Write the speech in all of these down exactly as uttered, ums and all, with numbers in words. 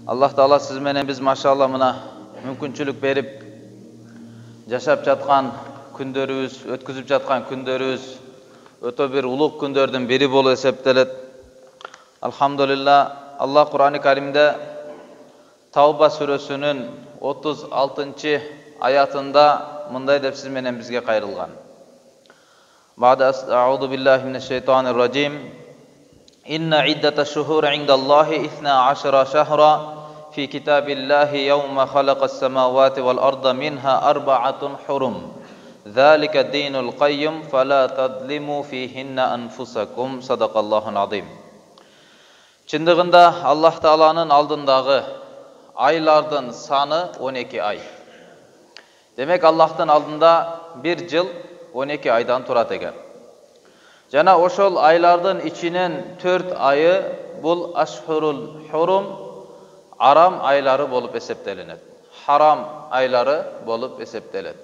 Аллах Таала сиз менен биз машалла мына мүмкүнчүлүк берип жашап жаткан күндөрүбүз, өткүзүп жаткан күндөрүбүз өтө бир улуг күндөрдүн бири болуп эсептелет. Алхамдулилла, Аллах Кур'ани Каримде Тауба сүрөсүнүн отуз алтынчы аятында мындай деп сиз менен бизге кайрылган. Бa'da a'udhu billahi minash-shaytanir rajim. Inna iddatash shuhuri 'indallahi ithna 'ashara shahra fi kitabillahi yawma khalaqas samawati wal arda minha arba'atun hurum. Dzalika ad-dinul qayyim fala tadlimu fihinna anfusakum. Sadaqallahul azim. Чындыгында Аллах Тааланын алдындагы айлардын саны он эки ай. Демек Аллахтын алдында бир жыл он эки айдан турат экен. Жана ошол айлардын ичинен төрт айы бул ашхурул хурум, арам айлары болуп эсептелинет. Харам айлары болуп эсептелет.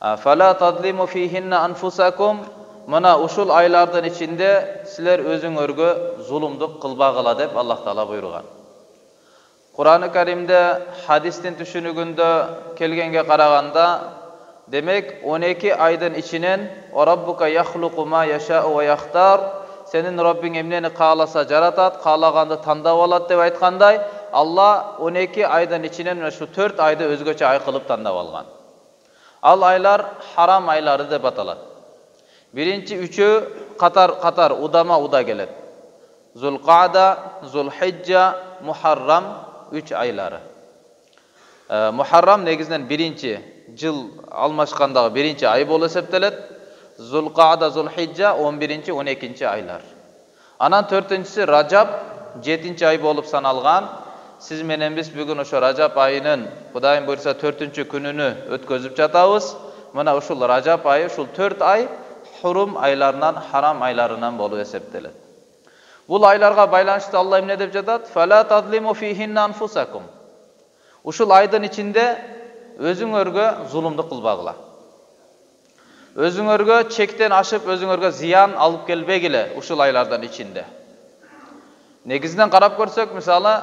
Фала тадлиму фихинна анфусакум. Мына ушул айлардын ичинде силер өзүңөргө зулумдук кылбагыла деп Аллах Таала буйруган. Кур'аны Каримде хадистин түшүнүгүндө келгенге караганда, демек он эки айдын ичинен «Раббука яхлуку ма яшау ва яхтар», сенин Раббиң эмнени кааласа жаратат, каалаганды тандап алат деп айткандай, Алла он эки айдын ичинен ушу төрт айды өзгөчө ай кылып тандап алган. Ал айлар харам айлары деп аталат. Биринчи үчөө катар-катар удама-уда келет. Зулкада, Зулхиджа, Мухаррам үч айлары. Мухаррам негизинен биринчи жыл алмашкандагы биринчи ай болуп эсептелет. Зулкада, Зулхиджа он биринчи он экинчи айлар. Анан төртүнчүсү Ражаб жетинчи ай болуп саналган. Сиз менен биз бүгүн ошо Ражаб айынын Кудайым буйрса төртүнчү күнүнү өткөзүп жатабыз. Мына ушул Ражаб айы, ушул төрт ай хурум айларынан, харам айларынан болуп эсептелет. Бул айларга байланыштуу Алла эмне деп жатат? Фала тадлиму фихинна анфусакум. Ушул айдын ичинде өзүңөргө зулумдук кылбагыла. Өзүңөргө чектен ашып, өзүңөргө зыян алып келбегиле ушул айлардан ичинде. Негизинен карап көрсөк, мисалы,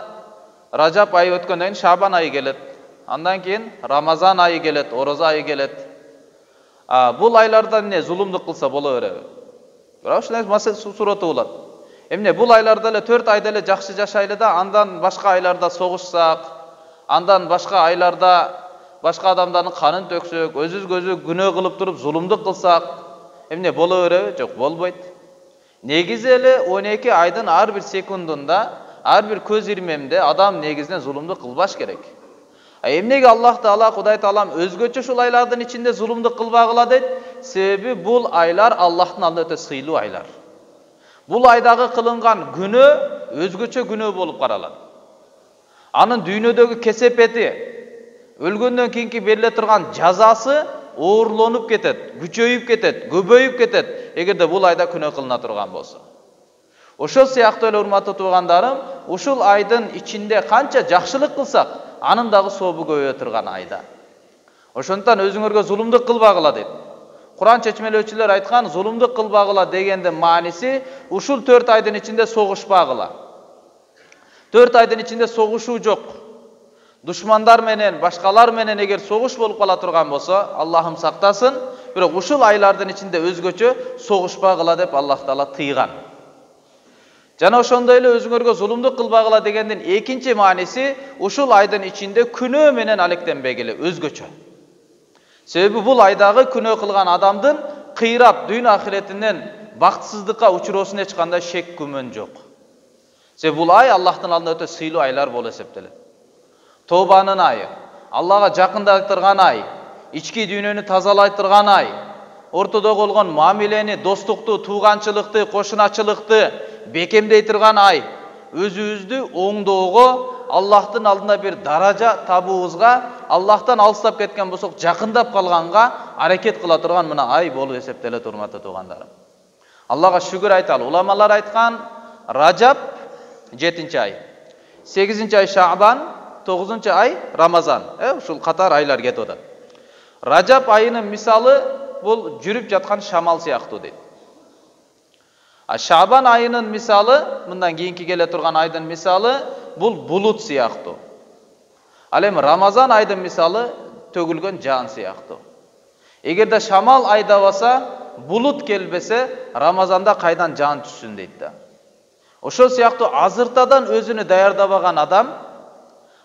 Ражаб айы өткөндөн кийин Шабан айы келет. Андан кийин Рамазан айы келет, Ороза айы келет. А бул айлардан эмне зулумдук кылса боло береби? Бирок ушундай маселе сураты болот. Эмне бул айларда эле төрт айда эле жакшы жашайлы да, андан башка айларда согушсак, андан башка айларда башка адамдардын канын төксөк, өзүбүзгө күнөө кылып туруп зулумдук кылсак, эмне боло береби? Жок, болбойт. Негизи эле он эки айдын ар бир секундунда, ар бир көз ирмемде адам негизинен зулумдук кылбаш керек. А эмнеге Аллах Таала, Кудай Таалам өзгөчө ушул айлардын ичинде зулумдук кылбагыла дейт? Себеби бул айлар Аллахтын алдында өтө сыйлуу айлар. Бул айдагы кылынган күнөө өзгөчө күнөө болуп каралат. Анын дүйнөдөгү кесепети, өлгөндөн кийинки бериле турган жазасы оорлонуп кетет, күчөйүп кетет, көбөйүп кетет, эгерде бул айда күнөө кылына турган болсо. Ошол сыяктуу эле урматтуу туугандарым, ушул айдын ичинде канча жакшылык кылсак, анын дагы сообу көбөйө турган айда. Ошондуктан өзүңөргө зулумдук кылбагыла дейт. Кур'ан чечмелөөчүлөр айткан, зулумдук кылбагыла дегендин мааниси ушул төрт айдын ичинде согушпагыла. төрт айдын ичинде согушуу жок. Душмандар менен, башкалар менен эгер согуш болуп кала турган болсо, Аллахым сактасын, бирок ушул айлардын ичинде өзгөчө согушпагыла деп Аллах Таала тыйган. Жана ошондой эле өзүңөргө зулумдук кылбагыла дегендин экинчи мааниси ушул айдын ичинде күнөө менен алектенбегиле, өзгөчө. Себеби бул айдагы күнөө кылган адамдын кыйрат дүйнө ахиретинен бактысыздыкка учуроосуна эч кандай шек күмөн жок. Себеби бул ай Аллахтын алдында өтө сыйлуу айлар болуп эсептелет. Тобанын айы, Аллага жакындатырган ай, ички дүйнөнү тазалайтырган ай, ортодо болгон мамилени, достукту, тууганчылыкты, кошуначылыкты бекемдей турган ай, өзүбүздү оңдоого, Аллахтын алдында бир даража табуубузга, Аллахтан алыстап кеткен болсок, жакындап калганга аракет кыла турган мына ай болуп эсептелет, урматтуу туугандарым. Аллага шүгүр айталы. Уламалар айткан, Ражаб жетинчи ай, сегизинчи ай Шабан, тогузунчу ай Рамазан. Э, ушул катар айлар кетип атат. Ражаб айынын мисалы бул жүрүп жаткан шамал сыяктуу дейт. А Шабан айынын мисалы, мындан кийинки келе турган айдын мисалы, бул булут сыяктуу. Ал эми Рамазан айдын мисалы төгүлгөн жаан сыяктуу. Эгерде шамал айдабаса, булут келбесе, Рамазанда кайдан жаан түшсүн дейт да. Ошол сыяктуу азыртадан өзүнү даярдабаган адам,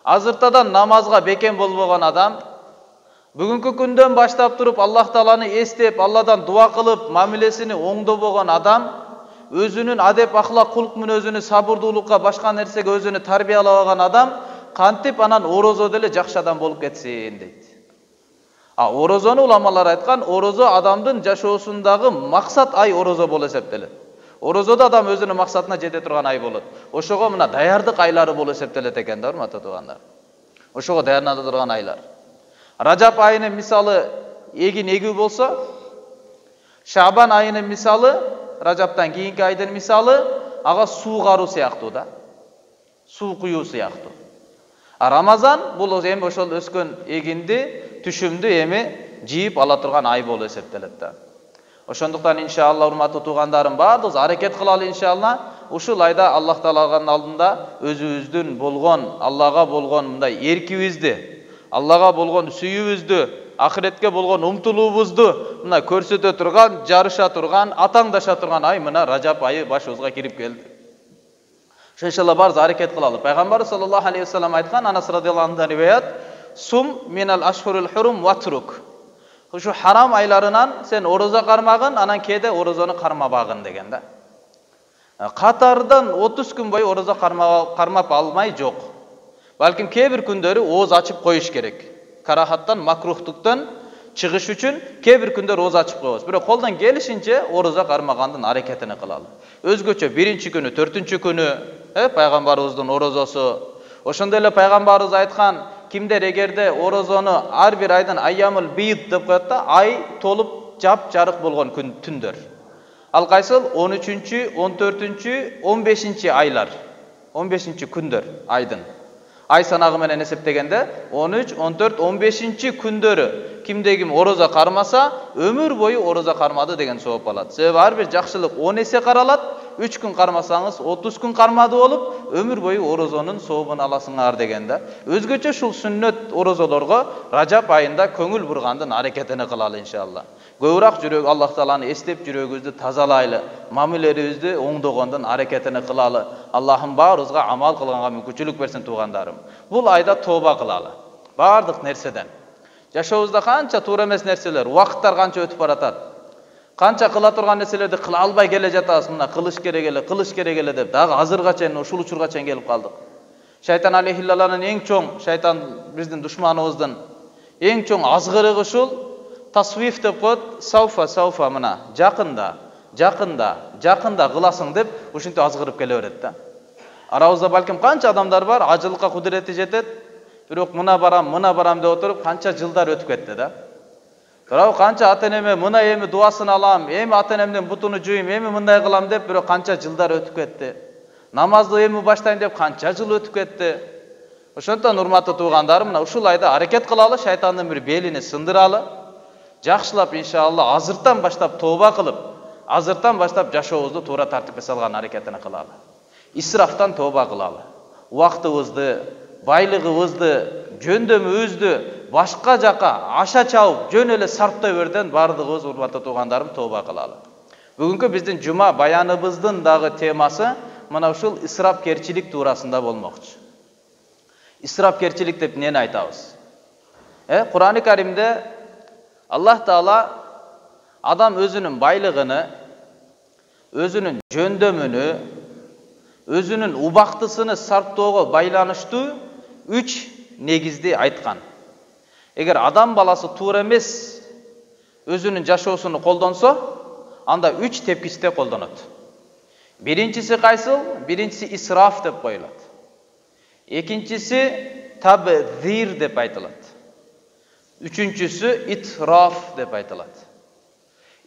азыртадан намазга бекем болбогон адам, бүгүнкү күндөн баштап туруп Аллах Тааланы эстеп, Алладан дуа кылып, мамилесини оңдобогон адам, өзүнүн адеп, ахлак, кулк мүнөзүнү сабырдуулукка, башка нерсеге өзүнү тарбиялабаган адам кантип анан орозо деле жакшы адам болуп кетсин дейт. А орозону уламалар айткан, орозо адамдын жашоосундагы максат ай орозо болуп эсептелет. Орозодо адам өзүнүн максатына жете турган ай болот. Ошого мына даярдык айлары болуп эсептелет экен да, урматтуу туугандар. Ошого даярдана турган айлар. Ражап айынын мисалы эгин эгүү болсо, Шабан айынын мисалы, Ражаптан кийинки айдын мисалы, ага суу каруу сыяктуу да. Суу куюу сыяктуу. А Рамазан бул эми ошол өскөн эгинди, түшүмдү эми жийип ала турган ай болуп эсептелет да. Ошондуктан иншалла урматтуу туугандарым, баардыгыбыз аракет кылалы иншалла. Ушул айда Аллах Тааланын алдында өзүбүздүн болгон, Аллага болгон мындай эркибизди, Аллага болгон сүйүүбүздү, ахиретке болгон умтулуубузду мына көрсөтө турган, жарыша турган, атаңдаша турган ай мына Ражап айы башыбызга кирип келди. Ошо иншалла баарыбыз аракет кылалы. Пайгамбар саллаллаху алейхи вассалам айткан, Анас радиаллаху анхудан риваят, сум минал ашхурул хурум ватрук. Ушу харам айларынан сен орозо кармагын, анан кээде орозону кармабагын деген да. Катардан отуз күн бою орозо кармап алмай жок. Балким кээ бир күндөрү ооз ачып коюш керек. Карахаттан, макрухтуктан чыгыш үчүн кээ бир күндөр ооз ачып коебуз. Бирок колдон келишинче орозо кармагандын аракетини кылалы. Өзгөчө биринчи күнү, төртүнчү күнү, э, пайгамбарыбыздын орозосу. Ошондой эле пайгамбарыбыз айткан, кимдер эгерде орозону ар бир айдын айямыл бийд деп коет да, ай толуп жап жарык болгон күн түндөр. Ал кайсыл? он үчүнчү, он төртүнчү, он бешинчи айлар. он бешинчи күндөр айдын. Ай санагы менен эсептегенде он үч, он төрт, он бешинчи күндөрү кимде ким орозо кармаса, өмүр бою орозо кармады деген сооп алат. Себеби ар бир жакшылык он эсе каралат. үч күн кармасаңыз отуз күн кармады болуп, өмүр бою орозонун сообун аласыңар деген да. Өзгөчө ушул сүннөт орозолорго Ражап айында көңүл бургандын аракетини кылалы иншалла. Көбүрөөк жүрөк Аллах Тааланы эстеп жүрөгүбүздү тазалайлы, мамилелерибизди оңдогондун аракетини кылалы. Аллахым баарыбызга амал кылганга мүмкүнчүлүк берсин туугандарым. Бул айда тооба кылалы. Бардык нерседен. Жашообузда канча туура эмес нерселер, убакыттар канча өтүп баратат. Канча кыла турган нерселерди кыла албай келе жатабыз. Мына кылыш керек эле, кылыш керек эле деп дагы азырга чейин ушул учурга чейин келип калдык. Шайтан алейхиллаланын эң чоң, шайтан биздин душманыбыздын эң чоң азгырыгы ушул тасвиф деп коет, сауфа сауфа мына жакында, жакында, жакында кыласың деп ушинтип азгырып келе берет да. Арабызда балким канча адамдар бар, ажылыкка кудурети жетет, бирок мына барам, мына барам деп отуруп канча жылдар өтүп кетти да. Бирок канча ата-энеме мына эми дуасын алам, эми ата-энемдин бутуну жуйм, эми мындай кылам деп бирок канча жылдар өтүп кетти. Намазды эми баштайм деп канча жыл өтүп кетти. Ошондон урматтуу туугандарым, мына ушул айда аракет кылалы, шайтандын бир белини сындыралы. Жакшылап иншалла азыртан баштап тооба кылып, азыртан баштап жашообузду туура тартипке салган аракетини кылалы. Исрафтан тооба кылалы. Убактыбызды, байлыгыбызды, жөндөмүбүздү башка жака аша чабып, жөн эле сарптай берден бардыгыбыз урматтуу туугандарым тооба кылалы. Бүгүнкү биздин жума баяныбыздын дагы темасы мына ушул исрафкерчилик туурасында болмокчу. Исрафкерчилик деп эмнени айтабыз? Э, Кур'ан-ы Каримде Аллах Таала адам өзүнүн байлыгыны, өзүнүн жөндөмүнү, өзүнүн убактысыны сарптоого байланыштуу үч негизди айткан. Эгер адам баласы туура эмес өзүнүн жашоосуну колдонсо, анда үч тепкичте колдонот. Биринчиси кайсыл? Биринчиси исраф деп коюлат. Экинчиси табзир деп айтылат. Үчүнчүсү итраф деп айтылат.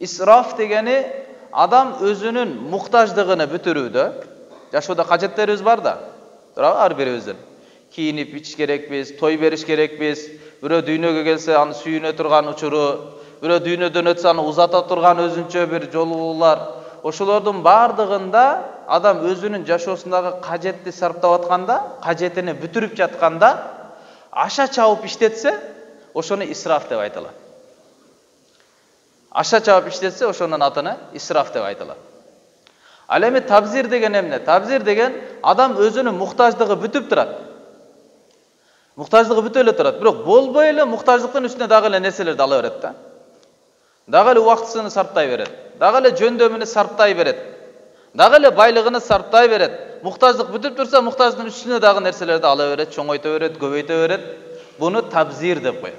Исраф дегени адам өзүнүн муктаждыгын бүтүрүүдө, жашоодо кажеттерибиз бар да. Туурабы ар бирибиздин? Кийинип ич керекпиз, той бериш керекпиз, бирөө дүйнөгө келсе аны сүйүнө турган учуру, бирөө дүйнөдөн өтсө аны узата турган өзүнчө бир жолуулар. Ошолордун бардыгында адам өзүнүн жашоосундагы кажетти сарптап атканда, кажетини бүтүрүп жатканда аша чабып иштетсе, ошону исраф деп айтылат. Аша чабып иштетсе, ошонун атына исраф деп айтылат. Ал эми табзир деген эмне? Табзир деген адам өзүнүн муктаждыгы бүтүп турат. Муктаждыгы бүтө эле турат, бирок болбой эле муктаждыктын үстүнө дагы эле нерселерди ала берет да. Дагы эле убактысын сарптай берет. Дагы эле жөндөмүнү сарптай берет. Дагы эле байлыгын сарптай берет. Муктаждык бүтүп турса, муктаждын үстүнө дагы нерселерди ала берет, чоңойто берет, көбөйтө берет. Буну табзир деп коет.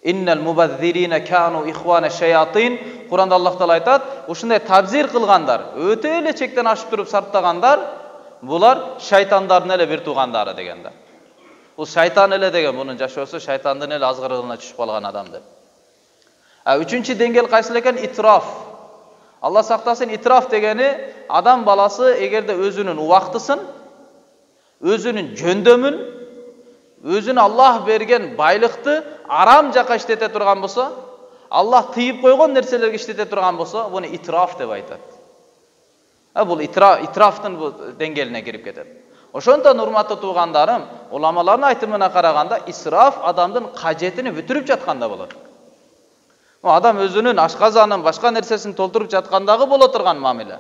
Иннал мубаззирина кану ихвана шаятин. Куранда Аллах Таала айтат, ушундай табзир кылгандар, өтө эле чектен ашып туруп сарптагандар, булар шайтандардын эле бир туугандары деген да. Бул шайтан эле деген, мунун жашоосу шайтандын эле азгырыгына түшүп калган адам деп. А үчүнчү деңгээл кайсыл экен? Итраф. Алла сактасын, итраф дегени адам баласы эгерде өзүнүн убактысын, өзүнүн жөндөмүн, өзүнө Аллах берген байлыкты арам жака иштете турган болсо, Аллах тыйып койгон нерселерге иштете турган болсо, буну итраф деп айтат. А бул итраф, итрафтын бул деңгээлине кирип кетет. Ошондон урматтуу туугандарым, уламалардын айтымына караганда, исраф адамдын кажетини бүтүрүп жатканда болот. Адам өзүнүн ашказанын, башка нерсесин толтуруп жаткандагы боло турган мамиле.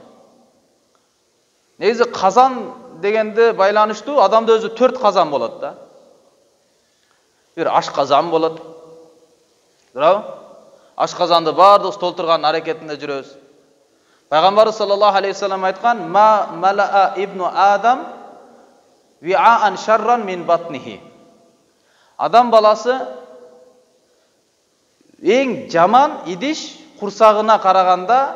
Негизи казан дегенде байланыштуу, адамда өзү төрт казан болот да. Бир ашказан болот. Туурабы? Ашказанды бардыгыбыз толтурган аракетинде жүрөбүз. Пайгамбарыбыз саллаллаху алейхи вассалам айткан: "Ма малаа ибну Адам ви'ан шарран мин батнихи." Адам баласы эң жаман идиш курсагына караганда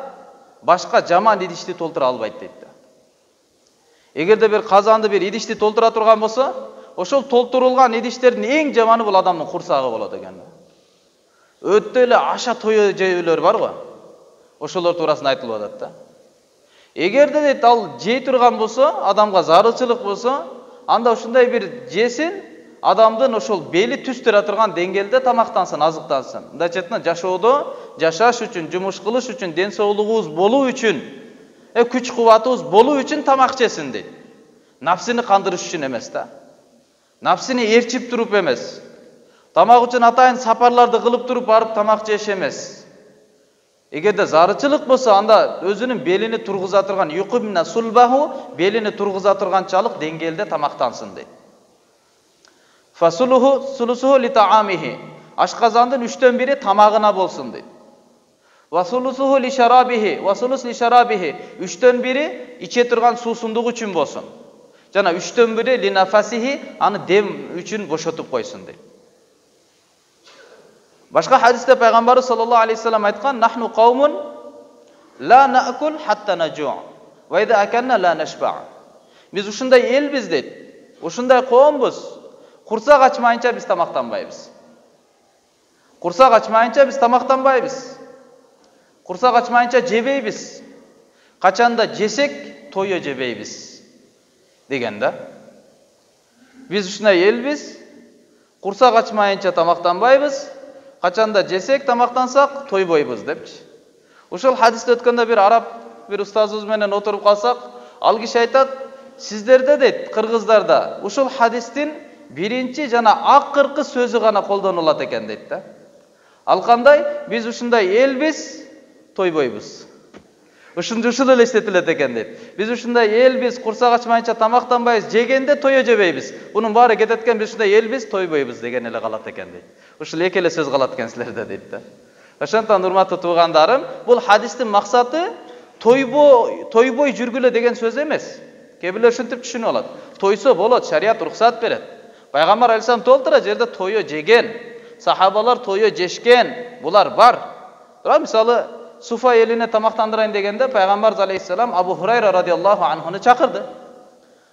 башка жаман идишти толтура албайт дейт. Эгерде бир казанды, бир идишти толтура турган болсо, ошол толтурулган идиштердин эң жаманы бул адамдын курсагы болот экен. Өтө эле аша тойо жейлөр бар го. Ошолор туурасында айтылып атат да. Эгерде дейт ал жей турган болсо, адамга зарылчылык болсо, анда ушундай бир жесин, адамдын ошол бели түз тура турган деңгээлде тамактансын, азыктансын. Мындай четинен жашоодо, жашаш үчүн, жумуш кылыш үчүн, ден соолугубуз болуу үчүн, э күч кубатыбыз болуу үчүн тамак жесин дейт. Нафсини кандырыш үчүн эмес да. Нафсини ээрчип туруп эмес. Тамак үчүн атайын сапарларды кылып туруп барып тамак жеш эмес. Эгерде зарычылык болсо, анда өзүнүн белини тургуза турган юқимна сулбаху, белини тургуза турганчалык деңгээлде тамактансын дейт. Фасулуху сулусуху литаамихи. Ашказандын үчтөн бири тамагына болсун дейт. Васулусуху лишарабихи, васулус лишарабихи. Үчтөн бири иче турган суусундук үчүн болсун. Жана үчтөн бири линафасихи, аны дем үчүн бошотуп койсун дейт. Башка хадисте пайгамбарыбыз саллаллаху алейхи вассалам айткан: "Нахну каумун ла наакул хатта нажу, ва иза акална ла нашба." Биз ушундай элбиз дейт. Ушундай коомбуз. Курсак ачмайынча биз тамактанбайбыз. Курсак ачмайынча биз тамактанбайбыз. Курсак ачмайынча жебейбиз. Качанда жесек, тойо жебейбиз деген да. Биз ушундай элбиз. Курсак ачмайынча тамактанбайбыз. Качанда жесек, тамактансак, тойбойбуз депчи. Ушул хадисте өткөндө бир араб бир устазыбыз менен отуруп калсак, ал киши айтат: "Сиздерде дейт, кыргыздарда ушул хадистин биринчи жана акыркы сөзү гана колдонулат экен" дейт да. Ал кандай? Биз ушундай элбиз, тойбойбуз. Ушундай ушул эле эстетилет экен дейт. Биз ушундай элбиз, курсак ачмайынча тамактанбайбыз, жегенде тойо жебейбиз. Бунун баары кетет экен, биз ушундай элбиз, тойбойбуз деген эле калат экен дейт. Ушул эки эле сөз калат экен силерде дейт да. Ошондон урматтуу туугандарым, бул хадистин максаты тойбой, тойбой жүргүлө деген сөз эмес. Кээ бирлер ушинтип түшүнүп алат. Тойсо болот, шарият уруксат берет. Пайгамбар алейхиссалам толтура жерде тойо жеген, сахабалар тойо жешкен, булар бар. Тура мисалы Суфа элине тамактандырайын дегенде пайгамбар алейхиссалам Абу Хурайра радиаллаху анхуну чакырды.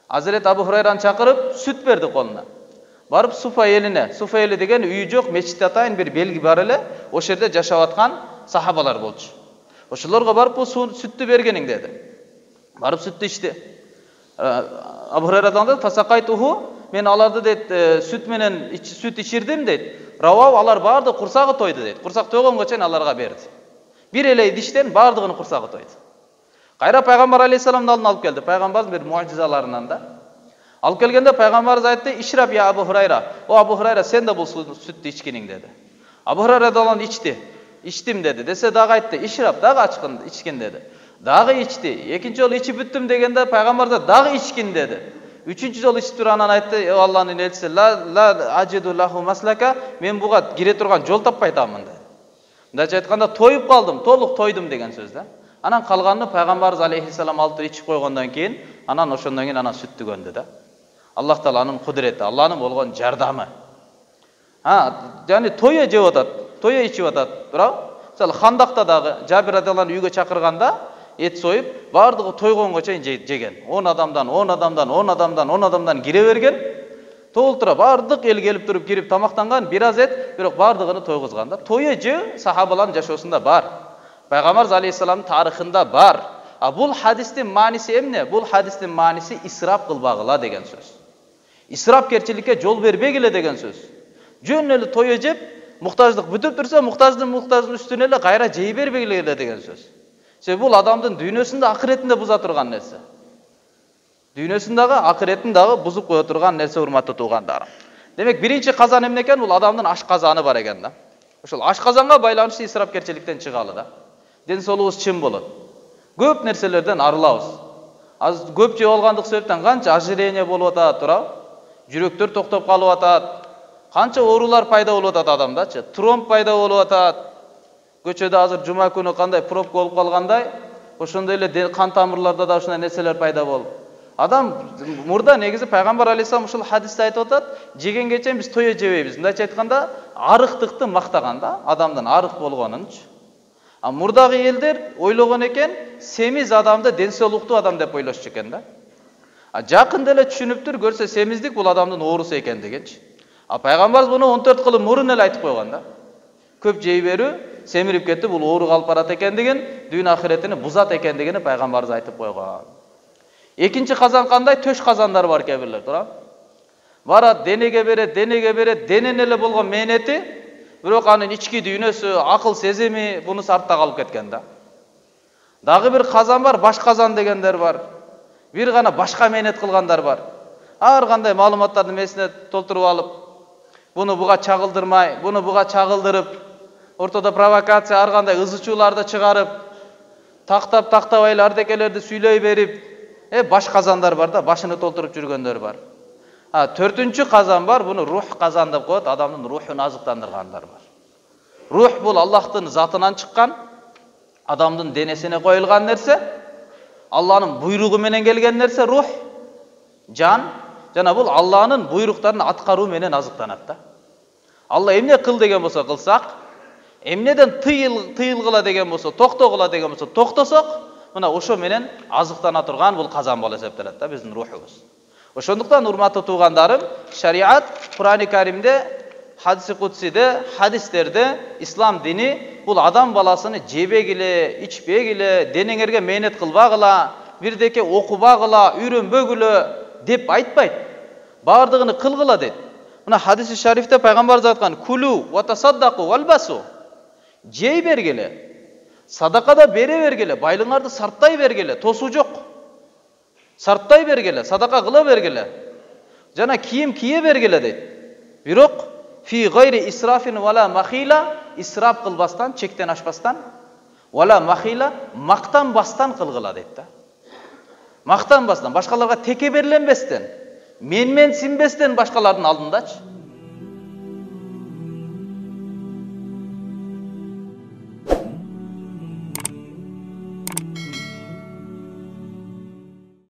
Азирет Абу Хурайраны чакырып сүт берди колуна. Барып Суфа элине, Суфа эли деген үйү жок, мечитте атайын бир белги бар эле, ошол жерде жашап аткан сахабалар болчу. Ошолорго барып бул сүттү бергениң деди. Барып сүттү ичти. Абу Хурайрадан да фасакайтуху, мен аларды дейт сүт менен сүт ичирдим дейт. Равау алар барды курсагы тойду дейт. Курсак тойгонго чейин аларга берди. Бир эле идиштен бардыгынын курсагы тойду. Кайра пайгамбар алейхиссаламдын алдына алып келди. Пайгамбардын бир муажизаларынан да. Алып келгенде пайгамбарыбыз айтты: "Ишраб я Абу Хурайра. О Абу Хурайра, сен да бул сүттү ичкиниң" деди. Абу Хурайра да аны ичти. "Ичтим" деди. Десе дагы айтты: "Ишраб", дагы ачкын ичкин деди. Дагы ичти. Экинчи жолу ичип бүттүм дегенде пайгамбар да дагы ичкин деди. Үчүнчү жолу ичип туруп анан айтты: "О Алланын элчиси, ла ла ажиду лаху маслака, мен буга кире турган жол таппай атамын" деди. Мындайча айтканда, тоюп калдым, толук тойдум деген сөз да. Анан калганын пайгамбарыбыз алейхиссалам алып ичип койгондон кийин, анан ошондон кийин анан сүттү көндү да. Аллах Тааланын кудурети, Алланын болгон жардамы. Ha, yani toya жеп атат, toya ичип атат, туурабы? Мисалы, Хандакта дагы Жабир радиаллаху үйгө чакырганда эт союп, бардыгы тойгонго чейин жеген. он адамдан, он адамдан, он адамдан, он адамдан кире берген. Толтура бардык эл келип туруп кирип тамактанган, бир аз эт, бирок бардыгын тойгозгон да. Toya жөө сахабалардын жашоосунда бар. Пайгамбар алейхиссаламдын тарыхында бар. А бул хадистин мааниси эмне? Бул хадистин мааниси исрап кылбагыла деген сөз. Исрапкерчиликке жол бербегиле деген сөз. Жөн эле toya жеп, муктаждык бүтүп турса, муктаждын муктаждын үстүнө эле кайра жей бербегиле деген сөз. Себеби бул адамдын дүйнөсүндө, акыретинде буза турган нерсе. Дүйнөсүндөгү, акыретин дагы бузуп кое турган нерсе, урматтуу туугандарым. Демек, биринчи казан эмне экен? Бул адамдын аш казаны бар экен да. Ошол аш казанга байланыштуу исрапкерчиликтен чыгалы да. Ден соолугубуз чын болот. Көп нерселерден арылабыз. Аз көп жеп алгандык себептен канча ожирение болуп атат, туурабы? Жүрөктөр токтоп калып атат. Канча оорулар пайда болуп атат адамдачы. Тромб пайда болуп атат. Көчөдө азыр жума күнү кандай пробка болуп калгандай, ошондой эле кан тамырларда да ушундай нерселер пайда болуп. Адам мурда негизи пайгамбар алейхиссалам ушул хадисте айтып атат, жегенге чейин биз toya жебейбиз. Мындайча айтканда, арыктыкты мактаган да, адамдын арык болгонунчу. А мурдагы элдер ойлогон экен, семиз адамды ден соолуктуу адам деп ойлошчу экен да. А жакында эле түшүнүптүр, көрсө семиздик бул адамдын оорусу экендигинчи. А пайгамбарыбыз муну он төрт кылым мурун эле айтып койгон да. Көп жей берүү семирип кетти, бул оору калып барат экендигин, дүйнө ахиретини бузат экендигини пайгамбарыбыз айтып койгон. Экинчи казан кандай? Төш казандар бар кээ бирлер, туурабы? Барат, денеге берет, денеге берет, денен эле болгон мээнети, бирок анын ички дүйнөсү, акыл сезими бунусу артта калып кеткен да. Дагы бир казан бар, баш казан дегендер бар. Бир гана башка мээнет кылгандар бар. Ар кандай маалыматтарды месине толтуруп алып, буну буга чагылдырмай, буну буга чагылдырып, ортодо провокация, ар кандай ызычууларды чыгарып, тактап тактабай эле ардекелерди сүйлөй берип, э баш казандар бар да, башыны толтуруп жүргөндөр бар. А төртүнчү казан бар, буну рух казан деп коет, адамдын рухун азыктандыргандар бар. Рух бул Аллахтын затынан чыккан, адамдын денесине коюлган нерсе, Алланын буйругу менен келген нерсе рух, жан, жана бул Алланын буйруктарын аткаруу менен азыктанат да. Алла эмне кыл деген болсо кылсак, эмнеден тыйыл тыйылгыла деген болсо, токтогула деген болсо токтосок, мына ошо менен азыктана турган бул казан болуп эсептелет да биздин рухубуз. Ошондуктан урматтуу туугандарым, шариат Кур'ани Каримде, хадиси кудсиде, хадистерде ислам дини бул адам баласыны жебегиле, ичпегиле, денеңерге мээнет кылбагыла, бирдеке окубагыла, үйрөнбөгүлө деп айтпайт. Бардыгыны кылгыла дейт. Мына хадиси шарифте пайгамбарыбыз айткан: "Кулу ва тасаддаку валбасу". Жей бергиле, садака да бере бергиле, байлыгыңарды сарттай бергиле, тосуу жок. Сарттай бергиле, садака кыла бергиле. Жана кийим кие бергиле дейт. Бирок фи гайри исрафин вала махила, исрап кылбастан, чектен ашпастан, вала махила, мактанбастан кылгыла дейт да. Мактанбастан, башкаларга текеберленбестен, менмен синбестен башкалардын алдындачы.